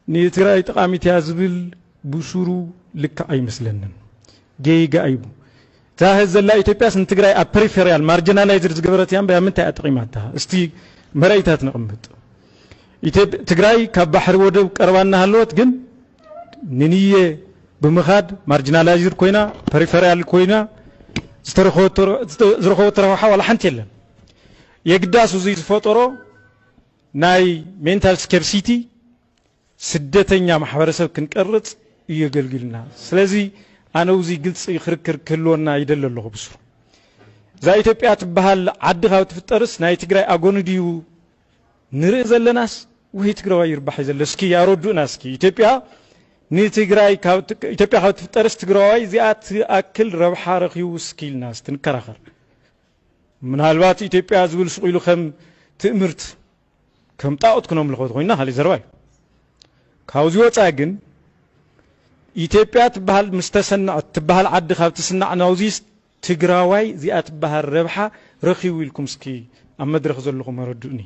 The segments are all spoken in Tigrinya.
ንትግራይ ጠቓሚት እያ ዝብል ብሱሩ ልክዕ ኣይመስለንን። ጌጋ እዩ። እታ ሀዝ ዘላ ኢትዮጵያስ ንትግራይ ኣብ ፐሪፌሪያል ማርጂናላይዝድ ዝገበረት እያ እምበይ ኣብ ምንታይ እያ ጠቒማታ? እስቲ መረኢታት ነቕምጥ። ኢትዮጵ- ትግራይ ካብ ባሕሪ ወደብ ቀረባ እናሃለወት ግን ንንየ ብምኻድ ማርጂናላይዝድ ኮይና፣ ፐሪፌሪያል ኮይና ዝተረኸበቶ- ዝረኸበቶ ረብሓ ዋላ ሓንቲ የለን። የግዳስ እዙይ ዝፈጠሮ ናይ ሜንታል ስኬርሲቲ ስደተኛ ማሕበረሰብ ክንቀርጽ እዩ የገልግልና። ስለዚ ኣነ እዚ ግልፂ ክርክር ክህልወና ይደሊ ኣለኹ። ብስሩ እዛ ኢትዮጵያ ትበሃል ዓዲ ካብ ትፍጠርስ ናይ ትግራይ ኣጎኒ ድዩ ንርኢ ዘለናስ ወይ ትግራዋይ ይርባሕ እዩ ዘሎ? እስኪ ኣረዱእና እስኪ። ኢትዮጵያ ንትግራይ ካብ ት- ኢትዮጵያ ካብ ትፍጠርስ ትግራዋይ እዚኣ ትኣክል ረብሓ ረኺቡ እስኪ ኢልና እስቲ ንከራኸር። ምናልባት ኢትዮጵያ ዝብል ሱቕ ኢሉ ከም ትእምርት ከም ጣዖት ክነምልኾ ኮይና ካልእ ዘረባ እዩ። ካብዚ ወፃኢ ግን ኢትዮጵያ ትበሃል ምስ ተሰንዐት ትበሃል ዓዲ ካብ ትስናዕ ናውዚስ ትግራዋይ እዚኣ ትበሃል ረብሓ ረኺቡ ኢልኩም እስኪ ኣብ መድረኽ ዘለኹም ኣረድኡኒ።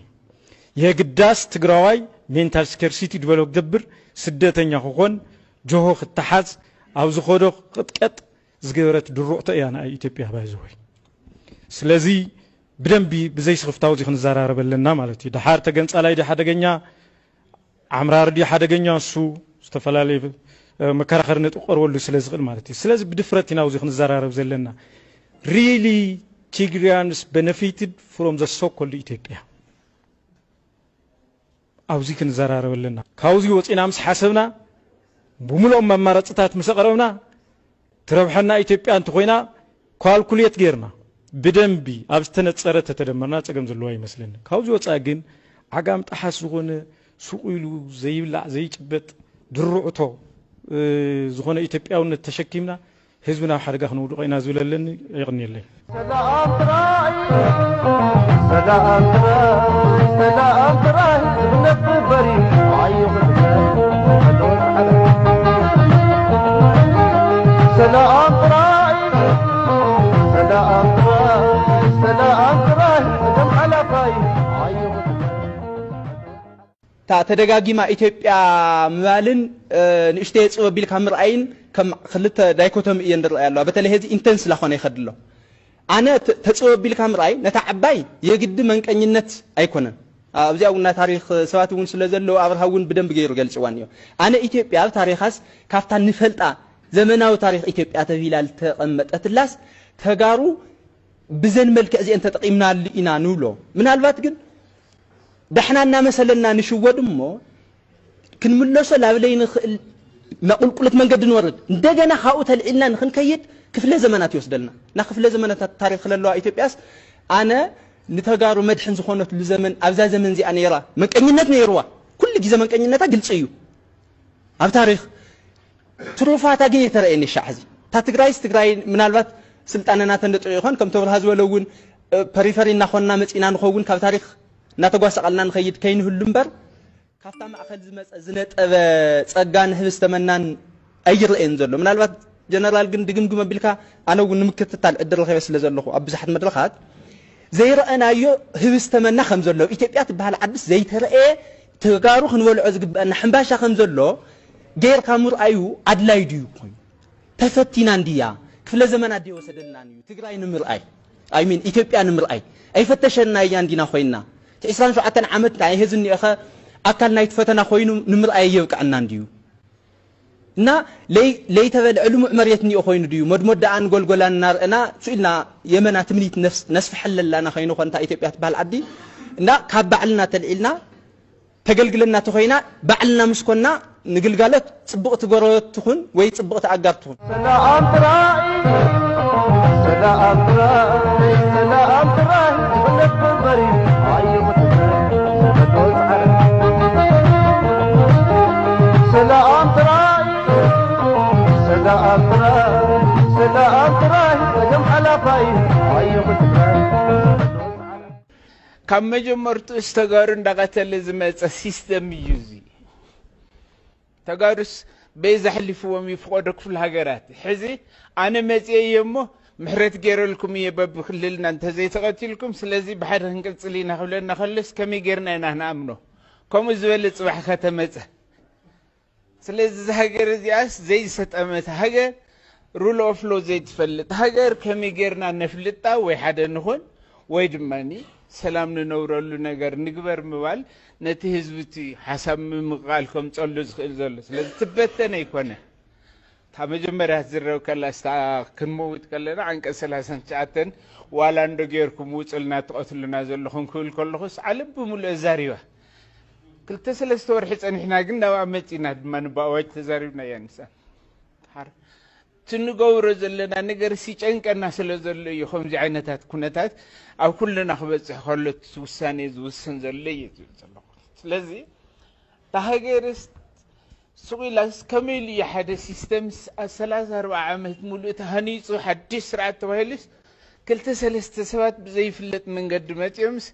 የግዳስ ትግራዋይ ሜንታል ስኬርሲቲ ዲቨሎፕ ክገብር፣ ስደተኛ ክኾን፣ ጆሆ ክተሓዝ፣ ኣብ ዝኾዶ ክቕጥቀጥ ዝገበረት ድሩዕቶ እያ ንኣይ ኢትዮጵያ ባይዘወይ። ስለዚ ብደንቢ ብዘይ ስኽፍታው እዚ ክንዘራረብ ኣለና ማለት እዩ። ደሓር ተገንጻላይ ድዩ ሓደገኛ፣ ዓምራሪ ድዩ ሓደገኛ፣ እሱ ዝተፈላለየ እ፣ መከራኸሪ ነጥቢ ክቐርበሉ ስለ ዝኽእል ማለት እዩ። ስለዚ ብድፍረት ኢና ኣብዚ ክንዘራረብ ዘለና። Really Tigrayans benefited from the so-called ኢትዮጵያ ኣብዚ ክንዘራረብ ኣለና። ካብዚ ወፂና ምስ ሓሰብና ብምልኦም ኣማራፅታት ምስ ኣቕረብና ትረብሐና ኢትዮጵያ እንተኾይና ካልኩሌት ጌርና ብደንቢ ኣብ ዝተነፀረ ተተደመርና ፀገም ዘለዎ ኣይመስለኒ። ካብዚ ወፃኢ ግን ዓጋም ጠሓስ ዝኾነ ሱቕ ኢሉ ዘይብላዕ ዘይጭበጥ ድርዕቶ እ፣ ዝኾነ ኢትዮጵያውነት ተሸኪምና ህዝቢ ናብ ሓደጋ ክነውድቖ ኢና ዝብል ኣለኒ። የቕንየለይ። ሰላም ጥራይ፣ ሰላም ጥራይ፣ ሰላም ጥራይ፣ እምነት በሪ፣ ኣይኹን፣ ሰላም ጥራይ፣ ሰላም ጥራይ፣ ሰላም ጥራይ፣ ደም ሓላፋይ፣ ኣይኹን። እታ ተደጋጊማ ኢትዮጵያ ምባልን እ፣ ንእሽተይ የፅበብ ኢልካ ምርኣይን ከም ክልተ ዳይኮቶሚ እየን ዝረኣያ ኣለዋ። በተለይ ሕዚ ኢንተንስ ላኾነ ይኸድ ኣሎ። ኣነ ተ- ተፅበብ ኢልካ ምርኣይ ነታ ዓባይ የግዲ መንቀኝነት ኣይኮነን። ኣብዚኣ እውን ናይ ታሪክ ሰባት እውን ስለ ዘለዉ ኣብርሃ እውን ብደንብ ገይሩ ገልፅዋ እኒኦ። ኣነ ኢትዮጵያ ኣብ ታሪኻስ ካብታ ንፈልጣ ዘመናዊ ታሪክ ኢትዮጵያ ተብሂላ ዝተቐመጠትላስ ተጋሩ ብዘን መልክዕ እዚአን ተጠቒምናሉ ኢና ንብሎ። ምናልባት ግን ዳሕና እናመሰለና ንሽወድ እሞ ክንምለሶ ላብ ለይንኽእል መቁልቁለት መንገዲ ንወርድ። እንደገና ካብኡ ተልዒልና ንክንከይድ ክፍለ ዘመናት ይወስደልና። እና ክፍለ ዘመናት ታሪክ ክለለዋ ኢትዮጵያስ ኣነ ንተጋሩ መድሕን ዝኾነትሉ ዘመን ኣብዛ ዘመን እዚኣ ነይራ። መንቀኝነት ነይርዋ። ኩሉ ግዜ መንቀኝነታ ግልፂ እዩ ኣብ ታሪክ። ትሩፋታ ግን የተረእየኒ ሻዕ ሕዚ እታ ትግራይስ ትግራይ ምናልባት ስልጣነና ተንደጥዑ ይኾን ከምቲ ኣብርሃ ዝበሎ እውን እ፣ ፐሪፈሪ እናኾንና መፂና ንኸውን ካብ ታሪክ እናተጓሳቐልና ንኸይድ ከይንህሉ እምበር ካብታ ማእኸል ዝመፀ ዝነጠበ ፀጋን ህብስተ መናን ኣይረእየን ዘሎ። ምናልባት ጀነራል ግን ድግምግም ኣቢልካ ኣነ እውን ንምክትታል ዕድል ረኺበ ስለ ዘለኹ ኣብ ብዙሓት መድረኻት ዘይረኣናዮ ህብስተ መና ከም ዘሎ ኣብ ኢትዮጵያ ትበሃል ዓድስ ዘይተረእየ ተጋሩ ክንበልዖ ዝግበአና ሕምባሻ ከም ዘሎ ጌርካ ምርኣዩ ኣድላይ ድዩ ኮይኑ ተፈቲና እንድያ ክፍለ ዘመናት ድየ ወሰደልናን እዩ ትግራይ ንምርኣይ ኣይሚን ኢትዮጵያ ንምርኣይ ኣይፈተሸና እያ እንዲና ኮይና እቲ ዕስራን ሸውዓተን ዓመት ናይ ህዝብ እኒኦኸ ኣካል ናይቲ ፈተና ኮይኑ ንምርኣይ የብቅዐና እንድዩ እና ለይተበልዐ ልሙዕ መሬት እኒኦ ኮይኑ ድዩ መድሞዳኣን ጎልጎላን እናርአና ስኢልና የመና ትምኒት ነስፍሐለላና ከይኑ ኮንታ ኢትዮጵያ ትበሃል ዓዲ እና ካብ ባዕልና ተልዒልና ተገልግለና ተኾይና ባዕልና ምስ ኮና ንግልጋሎት ፅብቕቲ ጎረበት ትኹን ወይ ፅብቕቲ ኣጋር ትኹን። ሰላም ጥራይ ሰላም ጥራይ ሰላም ጥራይ ዝፍለጥ መንበሪ ኣይኹን ሰላም ጥራይ ሰላም ጥራይ ሰላም ጥራይ ጸገም ሓላፋይ ኣይኹን ካብ መጀመርትኡስ ተጋሩ እንዳቐተለ ዝመፀ ሲስተም እዩ እዚ። ተጋሩስ በይ ዘሕሊፍዎም እዩ ፍቆዶ ክፍለ ሃገራት። ሕዚ ኣነ መፅየ እየ እሞ ምሕረት ገይረልኩም እየ በብክልልና እንተዘይተቐቲልኩም፣ ስለዚ ብሓደ ክንቅፅል ኢና ክብለና ከሎስ ከመይ ገይርና ኢና ክንኣምኖ? ከምኡ ዝበለ ፅባሕ ከተመፀ ስለዚ እዛ ሃገር እዚኣስ ዘይሰጠመት ሃገር፣ ሩል ኦፍ ሎ ዘይትፈልጥ ሃገር ከመይ ጌርና ነፍልጣ? ወይ ሓደ ንኾን ወይ ድማ ሰላም ንነብረሉ ነገር ንግበር ምባል ነቲ ህዝቢ እቲ ሓሳብ ምምቕቓል ከምፀሉ ዝኽእል ዘሎ። ስለዚ ትበተን ኣይኮነ። እታ መጀመርያ ትዝረብ ከላ ስታ ክንመውት ከለና ዓንቀ ሰላሳን ትሽዓተን ዋላ እንዶ ጌርኩም ውፅልና ትቐትሉና ዘለኹም ክብል ከለኹስ ዓለም ብምሉእ ዛሪባ። ክልተ ሰለስተ ወርሒ ጸኒሕና ግን ናብኣ መጺና ድማ ንባእዋጅ ተዛሪብና እያ ንሳ። ሓር- እቲ ንገብሮ ዘለና ነገር ሲጨንቀና ስለ ዘሎ እዩ ከምዚ ዓይነታት ኩነታት ኣብ ኩልና ክበጽሕ ከሎ እቲ ውሳኔ ዝውስን ዘሎ እዩ ዝብል ዘለኹ። ስለዚ እታ ሃገርስ ስቕ ኢላስ ከመይ ኢሉ እዩ ሓደ ሲስተም ስ- ሰላሳ ኣርባዓ ዓመት ሙሉእ ተሃኒጹ ሓድሽ ስርዓት ተባሂሉስ ክልተ ሰለስተ ሰባት ብዘይፍለጥ መንገዲ መጺኦምስ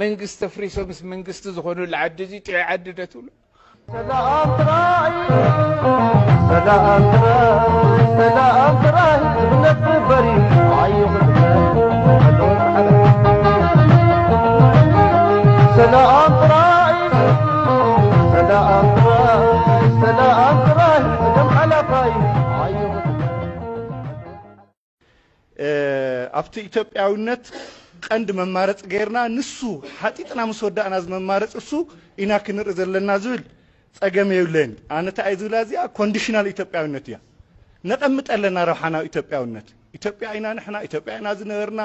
መንግስቲ ኣፍሪሶምስ መንግስቲ ዝኾኑሉ ዓዲ እዚ ጥዑይ ዓዲ ዶ ትብሉ? ሰላም ጥራይ፣ ሰላም ጥራይ፣ ሰላም ጥራይ፣ እምነት ግበሪ፣ ኣይኹን እምነት፣ ኣለዎ ጻዕዳ። ሰላም ጥራይ፣ ሰላም ጥራይ፣ ሰላም ጥራይ፣ ደም ሓላፋይ፣ ኣይኹን እምነት። እ፣ ኣብቲ ኢትዮጵያዊነት ቀንዲ መማረፂ ገይርና ንሱ ሓጢጥና ምስ ወዳእና እዚ መማረፂ እሱ ኢና ክንርኢ ዘለና ዝብል ፀገም የብለይን። ኣነ እንታይ እየ ዝብላ እዚኣ ኮንዲሽናል ኢትዮጵያዊነት እያ። ነቐምጥ ኣለና ረብሓና ኢትዮጵያዊነት። ኢትዮጵያ ኢና ንሕና፣ ኢትዮጵያ ኢና ዝነበርና።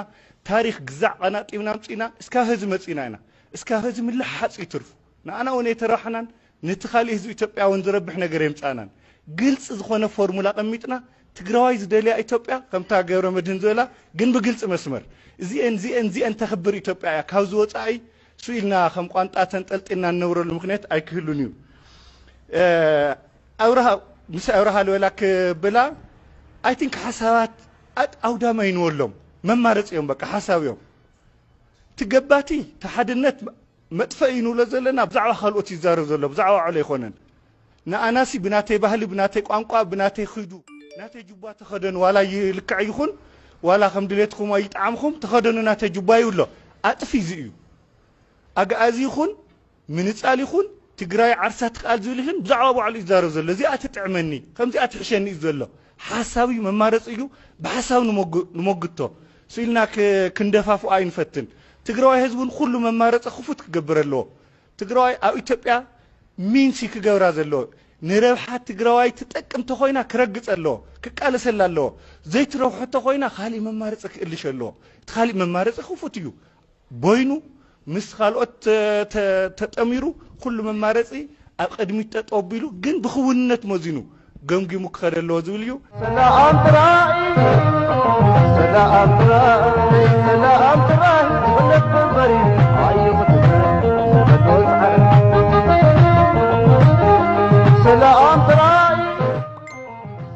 ታሪኽ ግዛዕ ቀናጢብና ኣምፂና እስካብ ህዚ መፂና ኢና። እስካብ ህዚ ምልሓፅ ይትርፉ። ንኣና እውን ኣይተረብሓናን ነቲ ካሊእ ህዝቢ ኢትዮጵያ እውን ዝረብሕ ነገር የምፃእናን። ግልፂ ዝኾነ ፎርሙላ ቀሚጥና ትግራዋይ ዝደልያ ኢትዮጵያ ከምታ ገብረ መድህን ዝበላ ግን ብግልፂ መስመር እዚአን እዚአን እዚአን ተኽብር ኢትዮጵያ እያ። ካብዚ ወፃኢ ስኢልና ከም ቋንጣ ተንጠልጢልና እንነብረሉ ምክንያት ኣይክህሉን እዩ። እ፣ ኣብርሃ ምስ ኣብርሃ ልበላ ክብላ ኣይ ቲንክ ሓሳባት ኣድ- ኣውዳማይ ንበሎም መማረፂ እዮም በቃ ሓሳብ እዮም። ትገባቲ ተሓድነት መጥፈኢ ንብሎ ዘለና ብዛዕባ ካልኦት ይዛረብ ዘሎ ብዛዕባ ባዕሉ ኣይኮነን። ንኣናሲ ብናተይ ባህሊ ብናተይ ቋንቋ ብናተይ ኺዱ ናተይ ጅባ ተኸደኑ ዋላ ይልክዕ ይኹን ዋላ ከም ድሌትኩም ኣይጠዓምኹም ተኸደኑ ናተይ ጅባ ይብሎ። ኣጥፊ እዚ እዩ። ኣግኣዚ ይኹን ምንፃል ይኹን ትግራይ ዓርሳ ትክኣል ዝብል ይኹን ብዛዕባ ባዕሉ ይዛረብ ዘሎ። እዚኣ ትጥዕመኒ ከምዚኣ ትሕሸኒ እዩ ዘሎ። ሓሳብ እዩ መማረፂ እዩ። ብሓሳብ ንሞግ- ንሞግቶ ስኢልና ክ- ክንደፋፍኦ ኣይንፈትን። ትግራዋይ ህዝቢ እውን ኩሉ መማረፂ ክፉት ክገብር ኣለዎ። ትግራዋይ ኣብ ኢትዮጵያ ሚንሲ ክገብራ ዘለዎ ንረብሓ ትግራዋይ ትጠቅም ተኮይና ክረግፅ ኣለዎ፣ ክቃለሰላ ኣለዎ። ዘይትረብሖ ተኮይና ካሊእ መማረፂ ክእልሽ ኣለዎ። እቲ ካሊእ መማረፂ ክፉት እዩ። ቦይኑ ምስ ካልኦት ተ- ተ- ተጠሚሩ ኩሉ መማረፂ ኣብ ቅድሚት ጠጠው ኣቢሉ ግን ብክውንነት መዚኑ ገምጊሙ ክኸደ ኣለዎ ዝብል እዩ። ሰላም ጥራይ፣ ሰላም ጥራይ፣ ሰላም ጥራይ፣ ዝፍለጥ ግበሪ፣ ኣይኹን ትግራይ፣ ዝፈትዎ ጻዕሪ። ሰላም ጥራይ፣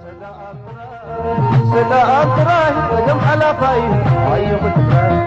ሰላም ጥራይ፣ ሰላም ጥራይ፣ ጸገም ሓላፋይ፣ ኣይኹን ትግራይ።